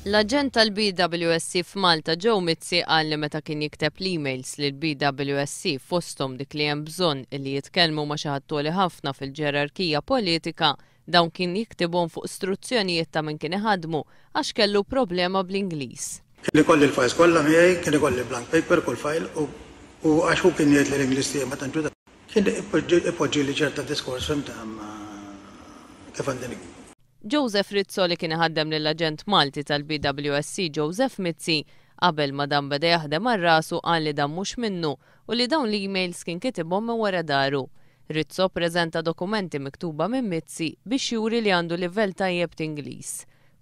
L-aġent tal-BWSC f'Malta Joe Mizzi qal li meta kien jikteb l-emails lill-BWSC fosthom dik li hemm bżonn li jitkellmu ma' xi ħadd għoli ħafna fil-ġerarkija politika, dawn kien jiktibhom fuq struzzjonijiet ta' min kien iħaddmu għax kellu problema bl-Ingliż. Kien ikolli l-files kollha miegħi, kien ikolli blank paper kull file u għax hu kien jgħid li l-Ingliż tiegħi ma tantx hu Kien ipoġġili ċerta diskors fhimt kif għandi niktbu. Joseph Rizzo li kien iħaddem lill-aġent Malti tal-BWSC Joseph Mizzi, qabel ma dan beda jaħdem għal rasu qal li dan mhux minnu u li dawn l-emails kien kitibhom minn wara daru. Rizzo ppreżenta dokumenti miktuba minn Mizzi biex juri li għandu livell tajjeb t'Ingliż.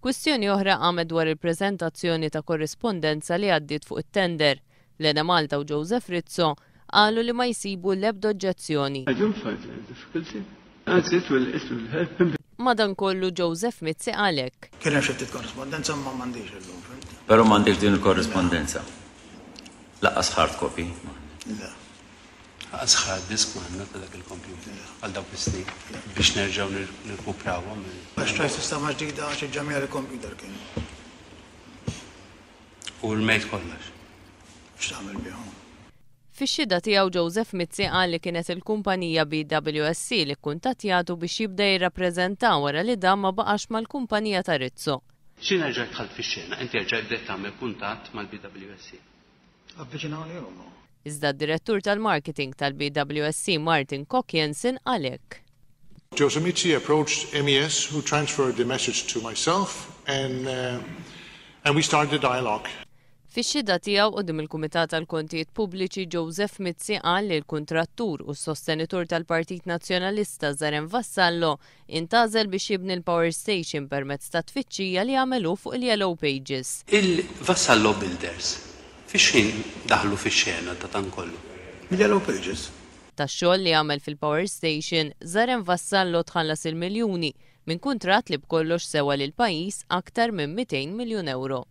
Kwistjoni oħra qamet dwar il-preżentazzjoni ta' korrispondenza li għaddiet fuq it-tender. L-Enemalta u Joseph Rizzo qalu li ma jsibu l-ebda oġġezzjoni. I don't find any difficulty. Anzi, it will, it will help him. Madankollu Joseph Mizzi qal hekk. Kien hemm xi ftit korrispondenza imma m'għandix illum, fhimt? Però m'għandekx din il-korrispondenza. Lanqas hard copy m'għandek. Le. Lanqas hard disk m'għandna ta' dak il-computer għal dawk is-snin biex nerġgħu nirkuprawhom. Għax xtrajt sistema ġdida għax iġġammjali l-computer kien. U rmejt kollox. X'tagħmel bihom? Fix-xhieda tiegħu Joseph Mizzi qal li kienet il-kumpanija BWSC li kkuntattjatu biex jibda jirrappreżenta wara li dan ma baqax mal-kumpanija ta' Rizzo. X'ħin erġajt dħalt fix-xena, inti erġajt bdejt tagħmel kuntatt mal-BWSC. Avviċinawni huma. Iżda d-Direttur tal-Marketing tal-BWSC Martin Koch Jensen qal hekk. Joseph Mizzi approached MES who transferred the message to myself and and we started the dialogue. Fix-xhieda tiegħu quddiem il-Kumitat għall-Kontijiet Pubbliċi Joseph Mizzi qal li l-kuntrattur u s-sostenitur tal-Partit Nazzjonalista Zaren Vassallo intgħażel biex jibni l-power station permezz ta' tfittxija li għamel hu fuq il-Yellow Pages. Il-Vassallo Builders fix ħin daħlu fix-xena ta' dan kollu? Mill-Yellow Pages. Tax-xogħol li għamel fil-power station, Zaren Vassallo tħallas il-miljuni minn kuntratt li b'kollox sewa lill-pajjiż aktar minn 200 miljun ewro.